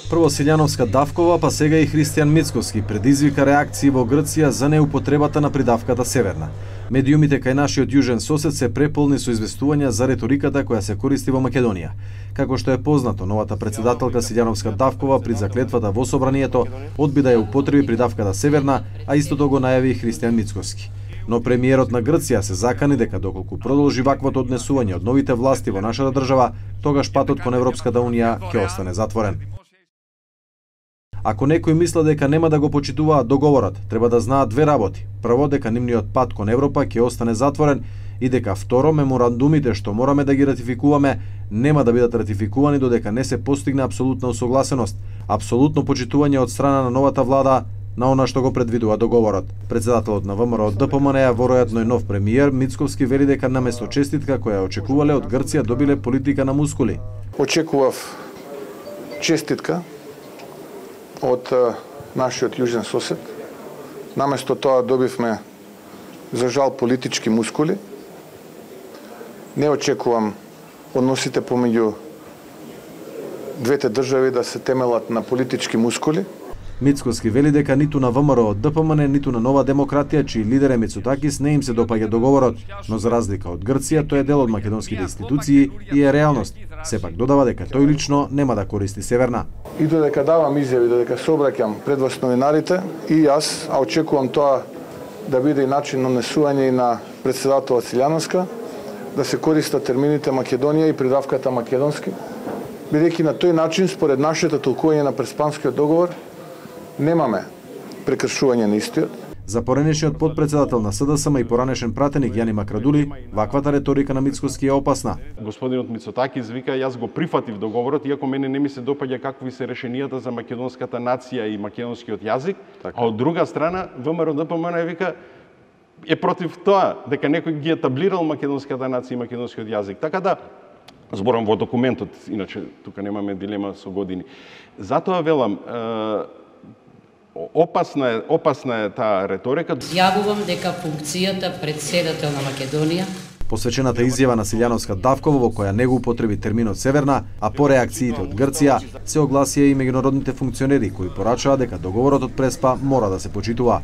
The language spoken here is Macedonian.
Прво Силјановска Давкова, па сега и Христијан Мицковски предизвика реакции во Грција за неупотребата на придавката Северна. Медиумите кај нашиот јужен сосед се преполни со известувања за реториката која се користи во Македонија. Како што е познато, новата претседателка Силјановска Давкова при заклетвата во собранието одби да ја употреби придавката Северна, а истото го најави и Христијан Мицковски. Но премиерот на Грција се закани дека доколку продолжи ваквото однесување од новите власти во нашата држава, тогаш патот кон Европската унија ќе остане затворен. Ако некој мисла дека нема да го почитуваат договорот, треба да знаат две работи. Прво, дека нивниот пат кон Европа ќе остане затворен и дека второ, меморандумите што мораме да ги ратификуваме нема да бидат ратификувани додека не се постигне апсолутна усогласеност, апсолутно почитување од страна на новата влада на она што го предвидува договорот. Председателот на ВМРО ДПМН, веројатно и нов премиер, Мицковски вели дека наместо честитка која очекувале од Грција добиле политика на мускули. Очекував честитка од нашиот јужен сосед. Наместо тоа добивме, за жал, политички мускули. Не очекувам односите помеѓу двете држави да се темелат на политички мускули. Мицковски вели дека ниту на ВМРО ДПМН, ниту на Нова демократија, чиј лидер е Мицотакис, не им се допаѓа договорот, но за разлика од Грција, тој е дел од македонските институции и е реалност. Сепак додава дека тој лично нема да користи Северна. И додека давам изјави, додека се обраќам пред вас новинарите, и јас, а очекувам тоа да биде и начин на однесување и на председателот Силјановска, да се користат термините Македонија и придавката македонски, бидејќи на тој начин, според нашето толкување на Преспанскиот договор, немаме прекршување на истиот. За поранешниот подпредседател на СДСМ и поранешен пратеник Јани Макрадули, ваквата реторика на Мицковски е опасна. Господинот Мицотакис вика, јас го прифатив договорот, иако мене не ми се допаѓа какви се решенијата за македонската нација и македонскиот јазик, а од друга страна ВМРО ДПМН вика е против тоа дека некој ги етаблирал македонската нација и македонскиот јазик. Така да зборам во документот, иначе тука немаме дилема со години. Затоа велам, опасна е таа реторика. Јавувам дека функцијата председател на Македонија, посвечената изјава на Силјановска Давкова во која не го употреби терминот Северна, а по реакциите од Грција се огласија и меѓународните функционери кои порачаа дека договорот од Преспа мора да се почитува.